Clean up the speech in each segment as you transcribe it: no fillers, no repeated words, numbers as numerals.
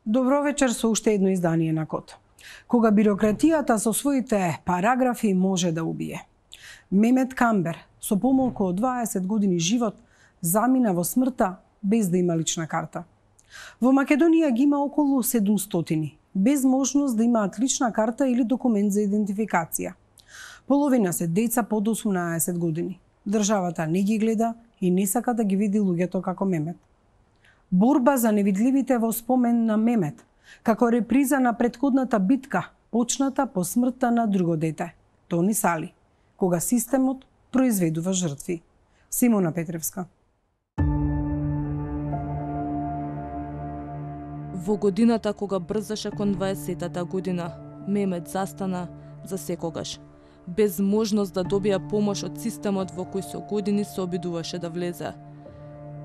Добро вечер со уште едно издание на Код. Кога бирократијата со своите параграфи може да убие. Мемет Камбер со помалку од 20 години живот замина во смртта без да има лична карта. Во Македонија ги има околу 700, без можност да имаат лична карта или документ за идентификација. Половина се деца под 18 години. Државата не ги гледа и не сака да ги види луѓето како Мемет. Борба за невидливите во спомен на Мемет, како реприза на претходната битка, почната по смртта на друго дете, Тони Сали, кога системот произведува жртви. Симона Петревска. Во годината кога брзаше кон 20-та година, Мемет застана за секогаш, без можност да добија помош од системот во кој со години се обидуваше да влезе.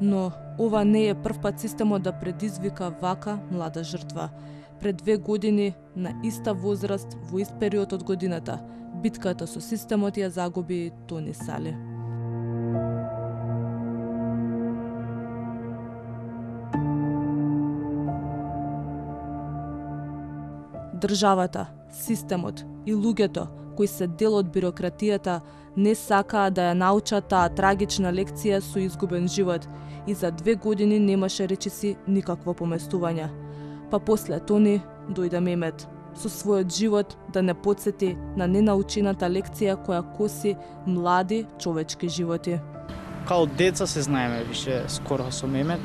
Но ова не е првпат системот да предизвика вака млада жртва. Пред 2 години, на иста возраст, во ист период од годината, битката со системот ја загуби Тони Сали. Државата, системот и луѓето кои се дел од бирократијата не сакаа да ја научат таа трагична лекција со изгубен живот и за 2 години немаше речиси никакво поместување. Па после Тони дојде Мемет со својот живот да не потсети на ненаучената лекција која коси млади човечки животи. Као деца се знаеме више скоро со Мемет.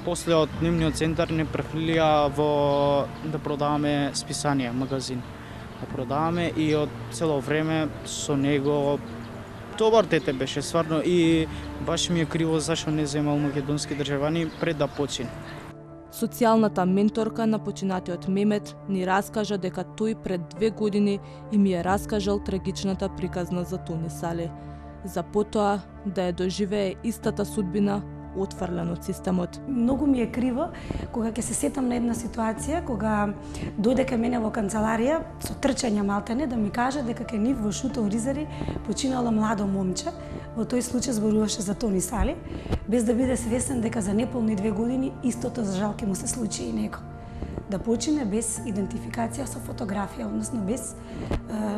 После од дневниот центар не префрлија во да продаваме списанија, магазин. Да продаваме и од цело време со него добар дете беше стварно и баш ми е криво зашо не земал македонски државани пред да почине. Социјалната менторка на починатиот Мемет ни раскажа дека тој пред 2 години им ја раскажал трагичната приказна за Тони Сали, за потоа да ја доживее истата судбина отфрлен од системот. Многу ми е криво кога ќе се сетам на една ситуација кога дојде кај мене во канцеларија со трчање малтене да ми каже дека кај нив во Шуто Оризари починало младо момче. Во тој случај зборуваше за Тони Сали, без да биде свесен дека за неполни 2 години истото за жал ќе му се случи и него. Да почине без идентификација со фотографија, односно без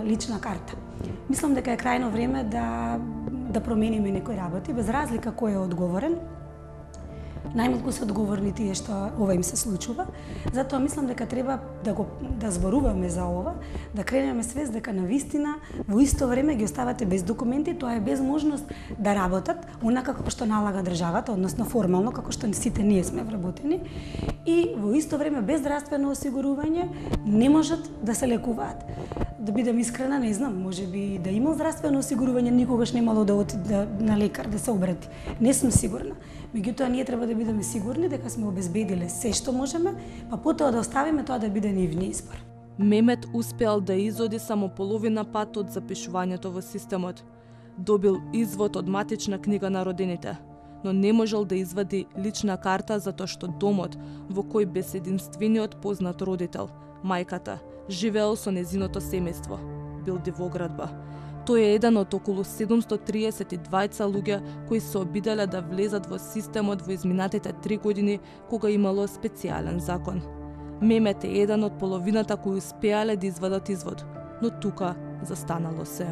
лична карта. Мислам дека е крајно време да промениме некои работи, без разлика кој е одговорен. Најмалку се одговорни тие што ова им се случува. Затоа мислам дека треба да зборуваме за ова, да кренеме свест дека навистина во исто време ги оставате без документи, тоа е без можност да работат, онака како што налага државата, односно формално како што сите ние сме вработени, и во исто време без здравствено осигурување не можат да се лекуваат. Да бидам искрена, не знам, можеби да имал здравствено осигурување никогаш немало да оди на лекар да се обрати. Не сум сигурна. Меѓутоа ние треба да бидеме сигурни дека сме обезбедиле се што можеме, па потоа да оставиме тоа да биде нивни избор. Мемет успеал да изоди само половина пат од запишувањето во системот. Добил извод од матична книга на родените, но не можел да извади лична карта затоа што домот во кој без единствениот познат родител, мајката, живеел со незиното семејство, бил дивоградба. Тој е еден од околу 732 луѓе кои се обиделе да влезат во системот во изминатите 3 години кога имало специјален закон. Мемет е еден од половината кои успеале да извадат извод, но тука застанало се.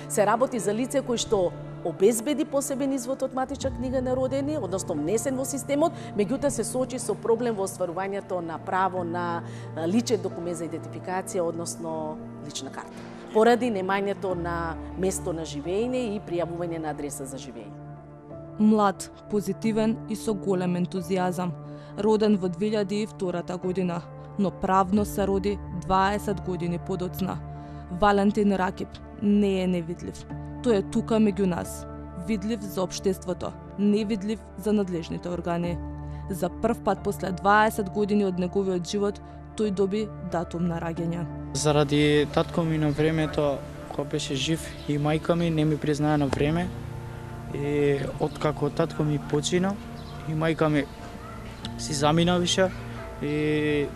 Се работи за лице кои што обезбеди посебен извод од матична книга на родени, односно внесен во системот, меѓутоа се соочи со проблем во остварувањето на право на личен документ за идентификација, односно лична карта, поради немањето на место на живење и пријавување на адреса за живење. Млад, позитивен и со голем ентузијазам, роден во 2002 година, но правно се роди 20 години подоцна. Валентин Ракип не е невидлив. Тој е тука меѓу нас, видлив за општеството, невидлив за надлежните органи. За прв пат после 20 години од неговиот живот, тој доби датум на раѓање. Заради татко ми на времето, кога беше жив, и мајка ми не ми признаа на време. И откако татко ми почина, и мајка ми си замина више, и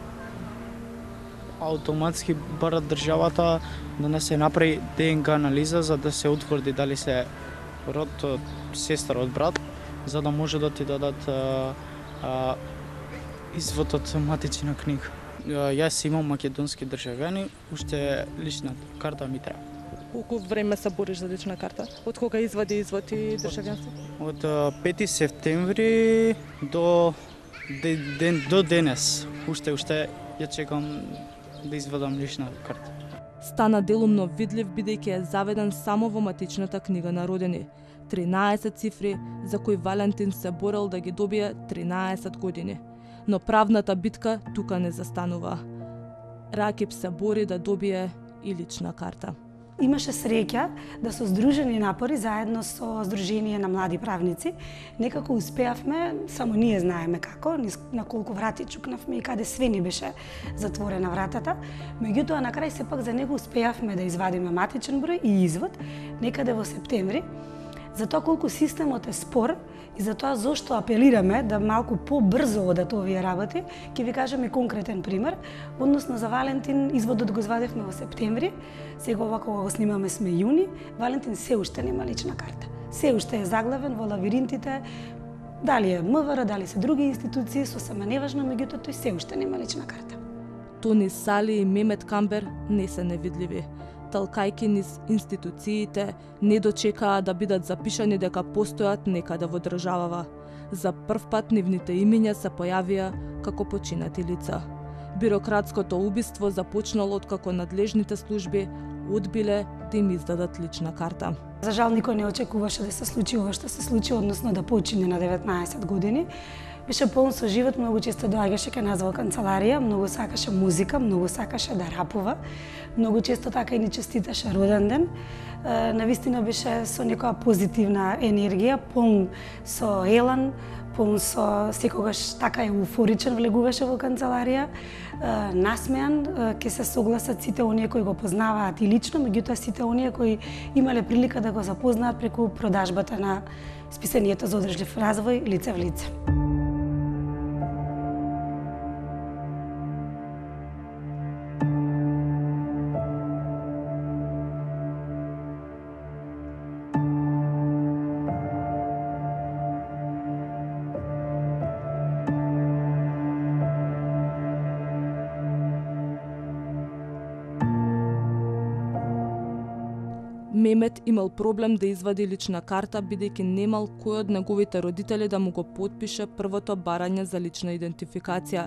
автоматски бара државата да не се направи ДНК анализа за да се утврди дали се род од сестра од брат, за да може да ти дадат извод од матична книга. Јас имам македонски државјани, уште лична карта ми треба. Колку време се бориш за лична карта? Од кога извади извод и државјанство? Од 5 септември до денес. Уште ја чекам да извадам лична карта. Стана делумно видлив бидејќи е заведен само во матичната книга на родени. 13 цифри за кои Валентин се борел да ги добие 13 години. Но правната битка тука не застанува. Ракип се бори да добие и лична карта. Имаше среќа да со здружени напори заедно со Сдружение на млади правници некако успеавме, само ние знаеме како, на колку врати чукнавме и каде све ни беше затворена вратата. Меѓутоа на крај сепак за него успеавме да извадиме матичен број и извод некаде во септември. За тоа колку системот е спор и за тоа зошто апелираме да малку побрзо одат овие работи, ќе ви кажам и конкретен пример. Односно за Валентин изводот го извадивме во септември, сега ова кога го снимаме сме јуни, Валентин се уште нема лична карта. Се уште е заглавен во лавиринтите, дали е МВР, дали се други институции, сосема неважно, меѓутоа тој се уште нема лична карта. Тони Сали и Мемет Камбер не се невидливи. Талкајки низ институциите, не дочекаа да бидат запишани дека постојат некаде во државава. За прв пат нивните имиња се појавија како починати лица. Бирократското убиство започнало откако надлежните служби одбиле да им издадат лична карта. За жал никој не очекуваше да се случи ова што се случи, односно да почине на 19 години. Беше полн со живот, многу често доаѓаше кај нас во канцеларија, многу сакаше музика, многу сакаше да рапува, многу често така и ни честиташе роден ден. Навистина беше со некоја позитивна енергија, полн со елан, полн со секогаш така еуфоричен влегуваше во канцеларија, насмеан, ќе се согласат сите оние кои го познаваат и лично, меѓутоа сите оние кои имале прилика да го запознаат преку продажбата на списанието за одржлив развој лице в лице. Мемет имал проблем да извади лична карта бидејќи немал кој од неговите родители да му го потпише првото барање за лична идентификација,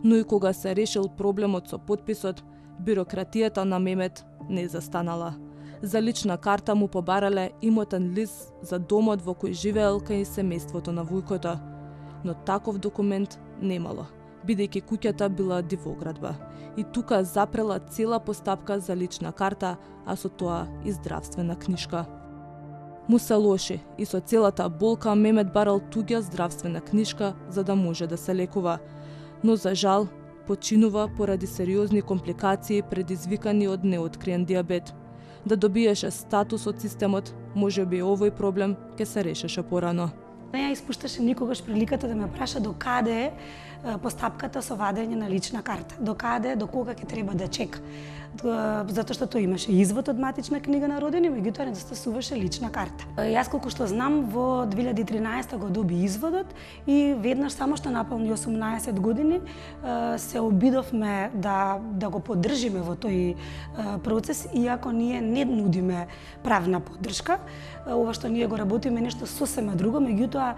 но и кога се решил проблемот со потписот, бирократијата на Мемет не застанала. За лична карта му побарале имотен лист за домот во кој живеел кај семејството на вујкото, но таков документ немало, бидејќи куќата била дивоградба. И тука запрела цела постапка за лична карта, а со тоа и здравствена книшка. Му се лоши и со целата болка Мемет барал туѓа здравствена книшка за да може да се лекува, но за жал починува поради сериозни компликации предизвикани од неоткриен диабет. Да добиеше статус од системот, можеби овој проблем ќе се решеше порано. Не ја испушташе никогаш приликата да ме праша до каде е постапката со вадење на лична карта, до кога ќе треба да чека. Затоа што тој имаше извод од матична книга на родени, меѓутоа недостасуваше лична карта. Јас колку што знам, во 2013 го доби изводот и веднаш само што наполни 18 години се обидовме да го поддржиме во тој процес, иако ние не нудиме правна поддршка. Ова што ние го работиме нешто сосема друго, меѓутоа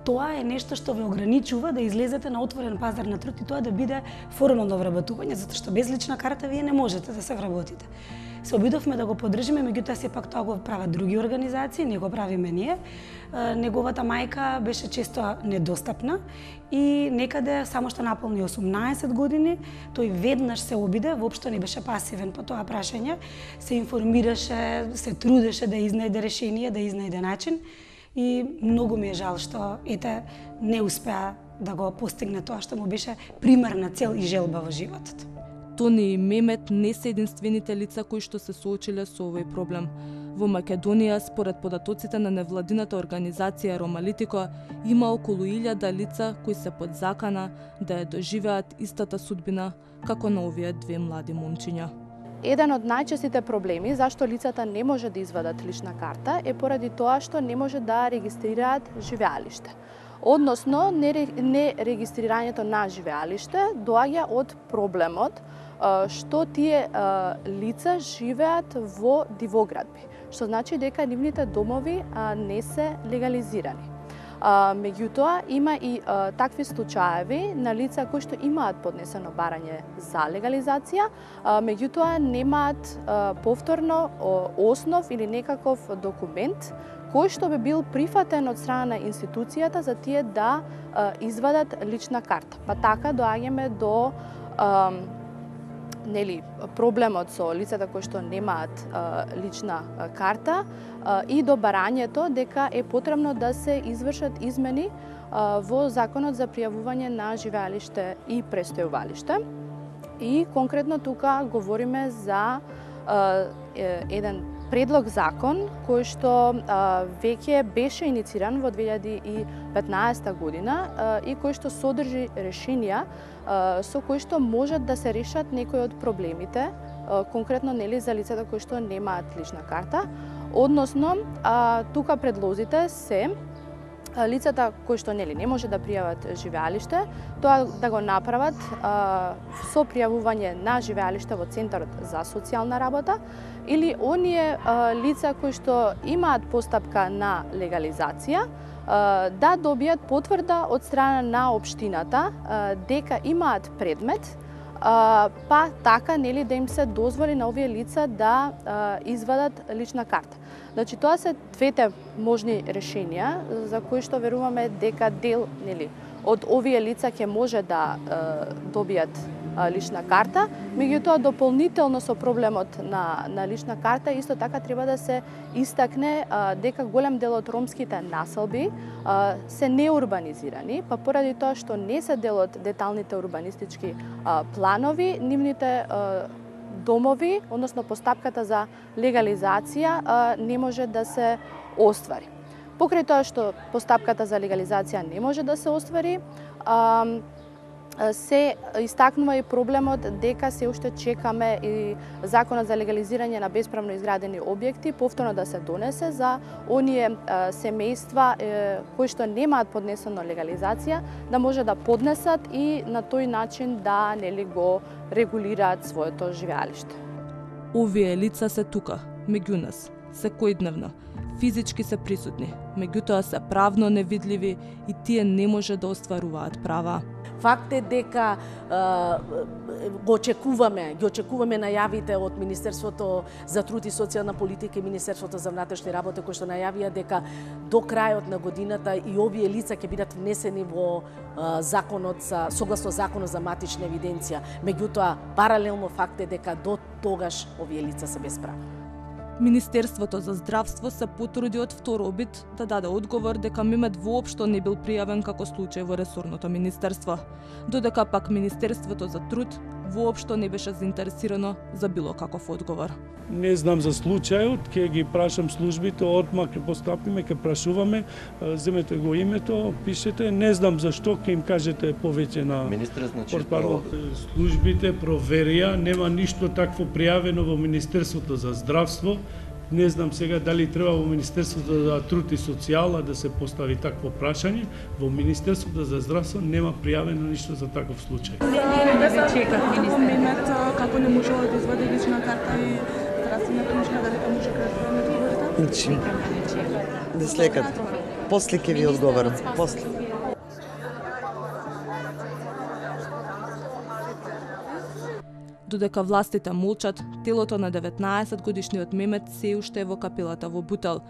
тоа е нешто што ве ограничува да излезете на отворен пазар на труд и тоа да биде формално вработување, затоа што без лична карта вие не можете да се вработите. Се обидовме да го поддржиме, меѓутоа сепак тоа го прават други организации, не го правиме ние. Неговата мајка беше често недостапна и некаде само што наполни 18 години, тој веднаш се обиде, воопшто не беше пасивен по тоа прашање, се информираше, се трудеше да изнајде решение, да изнајде начин. И многу ми е жал што не успеа да го постигне тоа што му беше примарна цел и желба во животот. Тони и Мемет не се единствените лица кои што се соочиле со овој проблем. Во Македонија, според податоците на невладината организација Ромалитико, има околу 1000 лица кои се под закана да ја доживеат истата судбина како на овие две млади момчиња. Еден од најчестите проблеми зашто лицата не може да извадат лична карта е поради тоа што не може да регистрираат живеалиште. Односно, нерегистрирањето на живеалиште доаѓа од проблемот што тие лица живеат во дивоградби, што значи дека нивните домови не се легализирани. Меѓутоа, има и такви случаеви на лица кои што имаат поднесено барање за легализација, меѓутоа немаат повторно основ или некаков документ кој што би бил прифатен од страна на институцијата за тие да извадат лична карта. Па така доаѓаме до проблемот со лицата кои што немаат лична карта и до барањето дека е потребно да се извршат измени во Законот за пријавување на живеалиште и престојувалиште. И конкретно тука говориме за еден предлог закон кој што веќе беше инициран во 2015 година и кој што содржи решенија со кои што можат да се решат некои од проблемите, конкретно за лицата кои што немаат лична карта. Односно, тука предлозите се лицата кои што не може да пријават живеалиште, тоа да го направат со пријавување на живеалиште во Центарот за социјална работа или оние лица кои што имаат постапка на легализација да добијат потврда од страна на општината дека имаат предмет, па така да им се дозволи на овие лица да извадат лична карта. Значи тоа се двете можни решенија за кои што веруваме дека дел од овие лица ќе може да добијат лична карта, меѓутоа дополнително со проблемот на лична карта исто така треба да се истакне дека голем дел од ромските населби се неурбанизирани, па поради тоа што не се дел од деталните урбанистички планови, нивните домови, односно постапката за легализација не може да се оствари. Покрај тоа што постапката за легализација не може да се оствари, се истакнува и проблемот дека се уште чекаме и Законот за легализирање на бесправно изградени објекти повторно да се донесе за оние семејства кои што немаат поднесено легализација, да може да поднесат и на тој начин да го регулираат своето живеалиште. Овие лица се тука, меѓу нас, секојдневно, физички се присутни, меѓутоа се правно невидливи и тие не може да остваруваат права. Факт е дека ги очекуваме најавите од Министерството за труд и социјална политика и Министерството за внатрешни работи кои што најавија дека до крајот на годината и овие лица ќе бидат внесени во законот согласно Законот за матична евиденција. Меѓутоа, паралелно факт е дека до тогаш овие лица се без права. Министерството за здравство се потруди од втор обид да даде одговор дека Мемет воопшто не бил пријавен како случај во ресорното министерство, додека пак Министерството за труд воопшто не беше заинтересирано за било каков одговор. Не знам за случајот, ќе ги прашам службите, отма ќе постапиме, ќе прашуваме, земете го името, пишете, не знам зашто, ќе им кажете повеќе на Министерот, значи, службите проверија, нема ништо такво пријавено во Министерството за здравство. Не знам сега дали треба во Министерството за труд и социјала да се постави такво прашање. Во Министерството за здравство нема пријавено ништо за таков случај. Да се чекат министерот како не можела да извади лична карта и здравствена книжка, дали тоа може да ми одговорите? Значи, да слекат. После ќе ви одговорам. После. Додека властите молчат, телото на 19-годишниот Мемет се уште е во капелата во Бутел.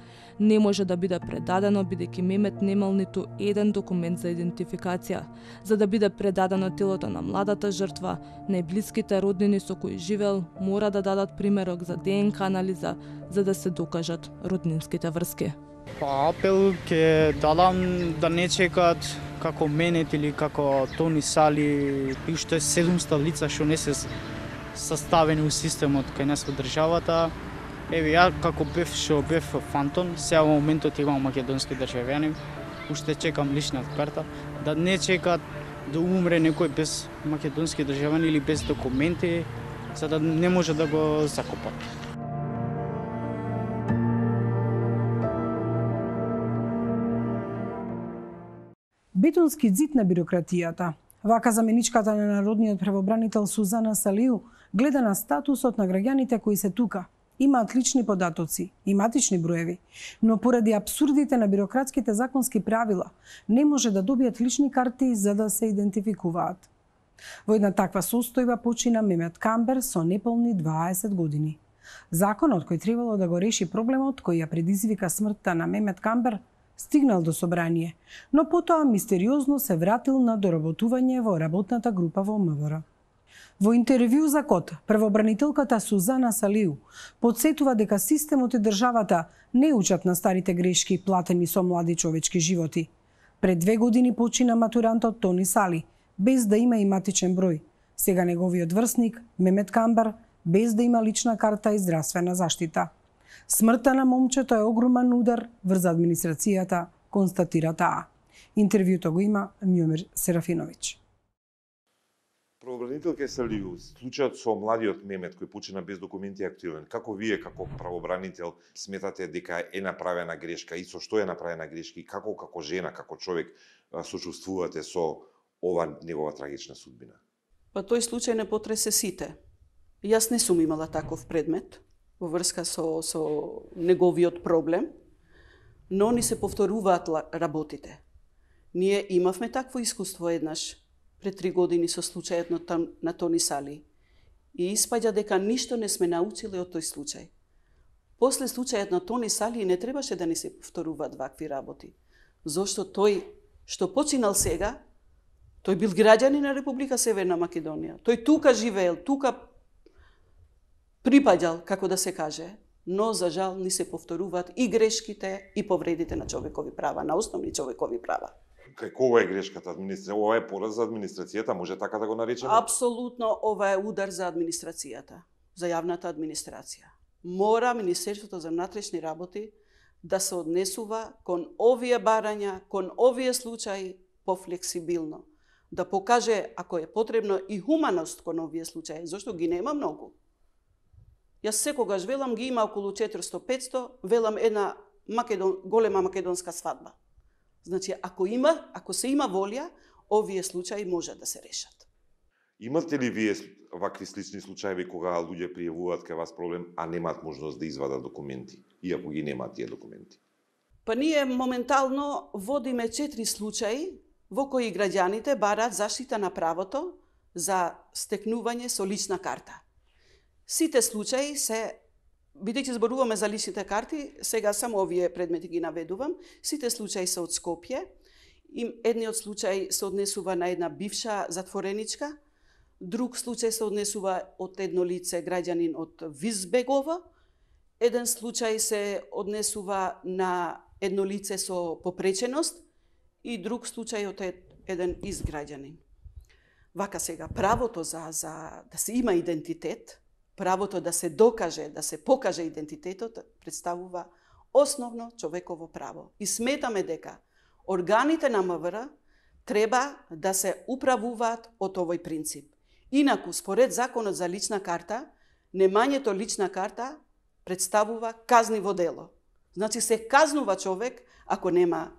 Не може да биде предадено бидејќи Мемет немал ниту еден документ за идентификација. За да биде предадено телото на младата жртва, најблиските роднини со кои живел мора да дадат примерок за ДНК анализа за да се докажат роднинските врски. Па апел ќе дадам да не чекат како Менет или како Тони Сали, уште 700 лица што не се составени у системот кај нас во државата. Еве ја како бев фантон, сега во моментот имам македонски државјанин, уште чекам лична карта, да не чекат да умре некој без македонски државјанин или без документи, за да не може да го закопат. Бетонски ѕид на бирократијата. Вака заменичката на народниот правобранител Сузана Салиу гледа на статусот на граѓаните кои се тука. Имаат лични податоци и матични броеви, но поради абсурдите на бирократските законски правила не може да добијат лични карти за да се идентификуваат. Во една таква состојба почина Мемет Камбер со неполни 20 години. Законот кој требало да го реши проблемот кој ја предизвика смртта на Мемет Камбер стигнал до собрание, но потоа мистериозно се вратил на доработување во работната група во МВР. Во интервју за Код, правобранителката Сузана Салиу подсетува дека системот и државата не учат на старите грешки платени со млади човечки животи. Пред 2 години почина матурантот Тони Сали, без да има и матичен број. Сега неговиот врсник, Мемет Камбер, без да има лична карта и здравствена заштита. Смртта на момчето е огромен удар врз администрацијата, констатира таа. Интервјуто го има Мјомир Серафиновиќ. Правобранителка Салиу, случајот со младиот Мемет кој почина без документи е активен. Како вие како правобранител сметате дека е направена грешка и со што е направена грешка и како жена, како човек сочувствувате со ова негова трагична судбина? Па тој случај не потресе сите. Јас не сум имала таков предмет во врска со неговиот проблем, но ни се повторуваат работите. Ние имавме такво искуство еднаш пред 3 години со случајот на Тони Сали и испаѓа дека ништо не сме научиле од тој случај. После случајот на Тони Сали не требаше да ни се повторуваат вакви работи, зашто тој што починал сега, тој бил граѓанин на Република Северна Македонија. Тој тука живеел, тука припаѓал, како да се каже, но за жал ни се повторуваат и грешките и повредите на човекови права, на основни човекови права. Кова е грешката? Ова е пораз за администрацијата, може така да го наречеме? Апсолутно, ова е удар за администрацијата, за јавната администрација. Мора Министерството за внатрешни работи да се однесува кон овие барања, кон овие случаи пофлексибилно. Да покаже, ако е потребно, и хуманост кон овие случаи, зашто ги нема многу. Јас секогаш велам, ги има околу 400-500, велам една голема македонска свадба. Значи, ако се има волја, овие случаи може да се решат. Имате ли вие вакви слични случаи кога луѓе пријавуваат кај вас проблем, а немаат можност да извадат документи, иако ги немаат тие документи? Па ние моментално водиме 4 случаи во кои граѓаните бараат заштита на правото за стекнување со лична карта. Сите случаи се, бидејќи зборуваме за личните карти, сега само овие предмети ги наведувам, сите случаи се од Скопје. Едниот случај се однесува на една бивша затвореничка, друг случај се однесува од едно лице граѓанин од Визбегова, еден случај се однесува на едно лице со попреченост и друг случај од еден изграѓанин. Вака сега, правото за да се има идентитет, правото да се докаже, да се покаже идентитетот, представува основно човеково право. И сметаме дека органите на МВР треба да се управуваат од овој принцип. Инаку, според Законот за лична карта, немањето лична карта представува казниво дело. Значи се казнува човек ако нема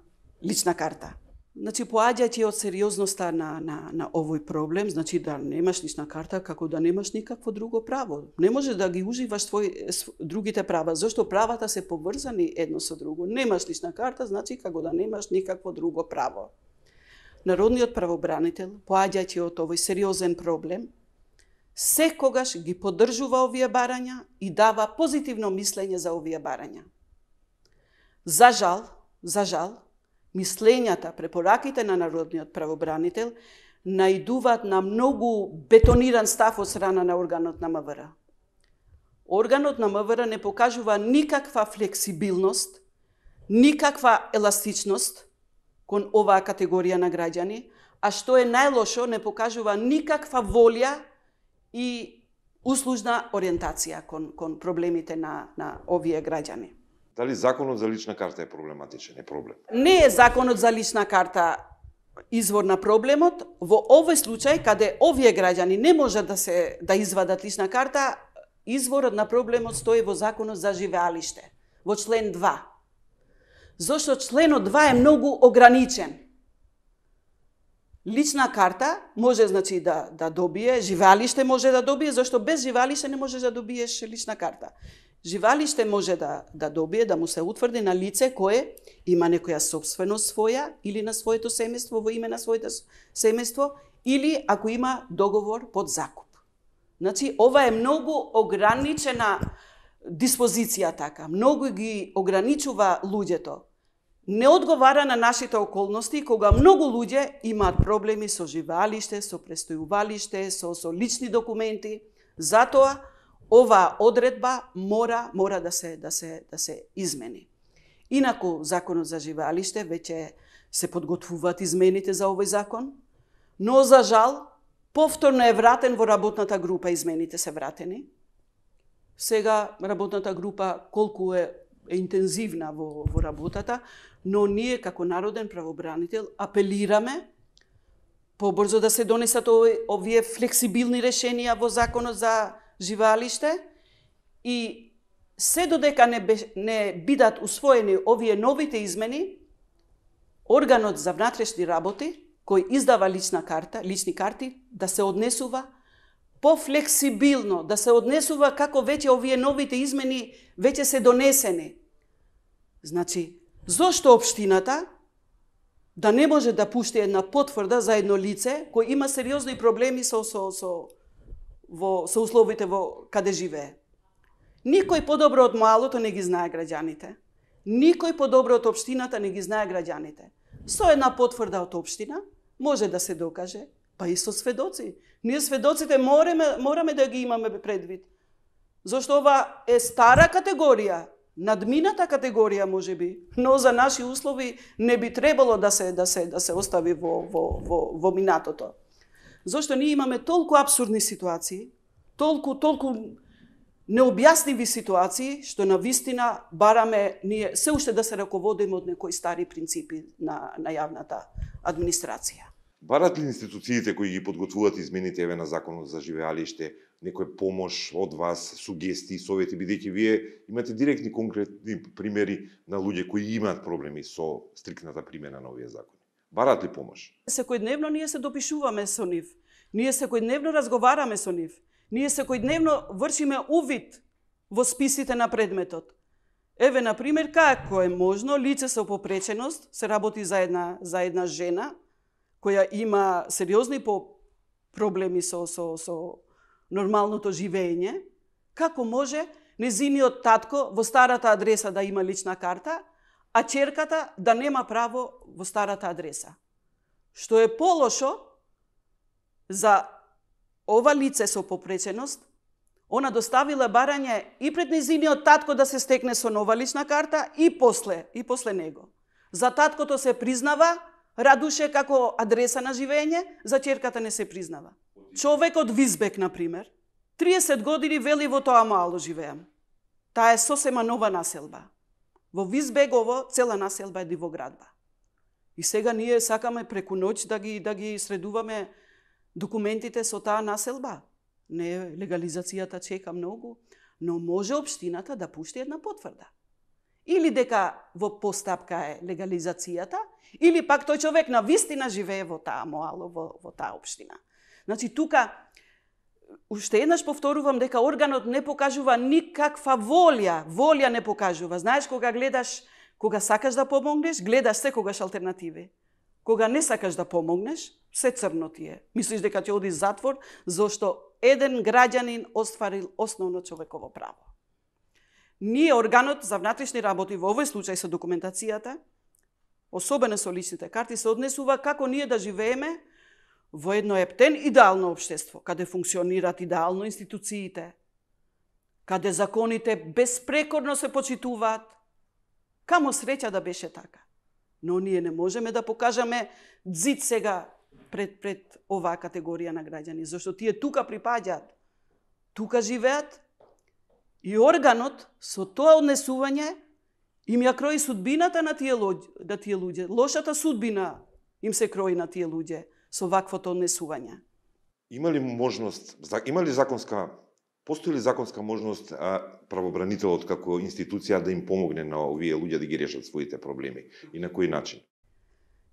лична карта. Значи, поаѓајќи од сериозноста на овој проблем, значи да немаш лична карта, како да немаш никакво друго право. Не можеш да ги уживаш другите права, зашто правата се поврзани едно со друго. Немаш лична карта, значи како да немаш никакво друго право. Народниот правобранител, поаѓајќи од овој сериозен проблем, секогаш ги поддржува овие барања и дава позитивно мислење за овие барања. За жал, мислењата, препораките на народниот правобранител наидуваат на многу бетониран став од страна на органот на МВР. Органот на МВР не покажува никаква флексибилност, никаква еластичност кон оваа категорија на граѓани, а што е најлошо, не покажува никаква волја и услужна ориентација кон проблемите на овие граѓани. Дали законот за лична карта е проблематичен? Е проблем? Не е законот за лична карта извор на проблемот. Во овој случај, каде овие граѓани не можат да извадат лична карта, изворот на проблемот стои во законот за живеалиште, во член 2. Зошто членот 2 е многу ограничен. Лична карта може, значи, да добие, живеалиште може да добие, зашто без живеалиште не можеш да добиеш лична карта. Живеалиште може да добие, да му се утврди на лице кое има некоја собственост своја или на своето семејство, во име на своето семејство, или ако има договор под закуп. Значи, ова е многу ограничена диспозиција така, многу ги ограничува луѓето. Не одговара на нашите околности, кога многу луѓе имаат проблеми со живеалиште, со престојувалиште, со лични документи. Затоа, оваа одредба мора да се измени. Инаку, законот за живеалиште веќе се подготвуваат измените за овој закон, но за жал, повторно е вратен во работната група, измените се вратени. Сега работната група колку е интензивна во работата, но ние како народен правобранител апелираме побрзо да се донесат овие флексибилни решенија во законот за живеалиште и се додека не бидат усвоени овие новите измени, органот за внатрешни работи кој издава лични карти, да се однесува пофлексибилно, да се однесува како веќе овие новите измени веќе се донесени. Значи, зошто општината да не може да пушти една потврда за едно лице кој има сериозни проблеми со условите во каде живее? Никој подобро од малото не ги знае граѓаните. Никој подобро од општината не ги знае граѓаните. Со една потврда од општина може да се докаже, па и со сведоци. Ние сведоците мораме да ги имаме предвид. Зошто ова е стара категорија, надмината категорија можеби, но за наши услови не би требало да се остави во минатото. Зошто ние имаме толку апсурдни ситуации, толку необјасниви ситуации, што на вистина бараме ние се уште да се раководиме од некои стари принципи на јавната администрација. Барат ли институциите кои ги подготвуваат измените на законот за живеалиште некој помош од вас, сугестии, совети, бидејќи вие имате директни конкретни примери на луѓе кои имаат проблеми со стриктната примена на овие закони? Барат ли помош? Секојдневно ние се допишуваме со нив. Ние секојдневно разговараме со нив. Ние секојдневно вршиме увид во списите на предметот. Еве, например, како е можно лице со попреченост, се работи за една жена која има сериозни проблеми со нормалното живење, како може незиниот татко во старата адреса да има лична карта, а ќерката да нема право во старата адреса? Што е полошо за ова лице со попреченост, она доставила барање и пред незиниот татко да се стекне со нова лична карта и после него. За таткото се признава Радуше како адреса на живење, за ќерката не се признава. Човек од Визбек, например, 30 години вели во тоа мало живеам. Таа е сосема нова населба. Во Визбегово цела населба е дивоградба. И сега ние сакаме преку ноќ да ги средуваме документите со таа населба. Не, легализацијата чека многу, но може општината да пушти една потврда. Или дека во постапка е легализацијата, или пак тој човек на вистина живее во таа моало, во таа општина. Значи, тука, уште еднаш повторувам дека органот не покажува никаква волја не покажува. Знаеш, кога сакаш да помогнеш, гледаш секогаш алтернативи. Кога не сакаш да помогнеш, се црно ти е. Мислиш дека ќе оди затвор, зашто еден граѓанин остварил основно човеково право. Ние, органот за внатрешни работи, во овој случај со документацијата, особено со личните карти, се однесува како ние да живееме во едно ептен идеално општество, каде функционираат идеално институциите, каде законите безпрекорно се почитуваат. Камо среќа да беше така. Но ние не можеме да покажаме дзид сега пред оваа категорија на граѓани, зашто тие тука припаѓаат, тука живеат и органот со тоа однесување им ја крои судбината на тие луѓе. Лошата судбина им се крои на тие луѓе со ваквото однесување. Постои ли законска можност правобранителот како институција да им помогне на овие луѓе да ги решат своите проблеми и на кој начин?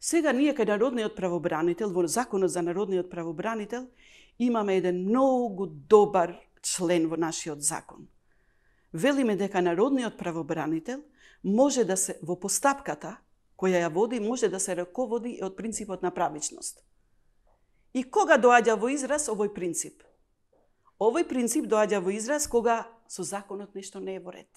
Сега ние кај народниот правобранител, во законот за народниот правобранител, имаме еден многу добар член во нашиот закон. Велиме дека народниот правобранител може да се во постапката која ја води може да се раководи од принципот на правичност. И кога доаѓа во израз овој принцип? Овој принцип доаѓа во израз кога со законот нешто не е во ред.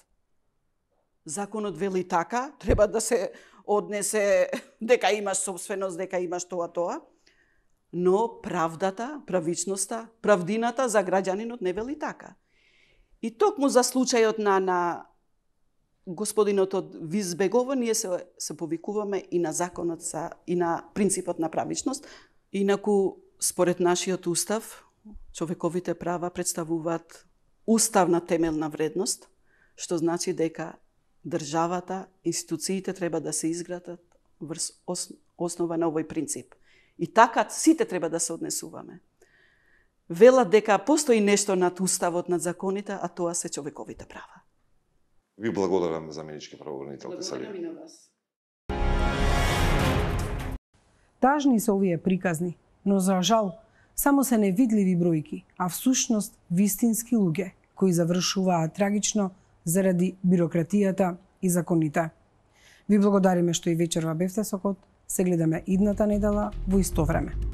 Законот вели така, треба да се однесе дека имаш собственост, дека имаш тоа, но правдата, правичноста, правдината за граѓанинот не вели така. И токму за случајот на господинот од Визбегово, ние се повикуваме и на законот и на принципот на правичност. Инаку, според нашиот устав, човековите права представуваат уставна темелна вредност, што значи дека државата, институциите треба да се изградат врз основа на овој принцип. И така сите треба да се однесуваме. Велат дека постои нешто над уставот, над законите, а тоа се човековите права. Ви благодарам, заменички правобранител Тесалија. Благодарам и на вас. Тажни се овие приказни, но за жал само се невидливи бројки, а всушност вистински луѓе кои завршуваат трагично заради бирократијата и законите. Ви благодариме што и вечерва бевте со Код. Се гледаме идната недела во исто време.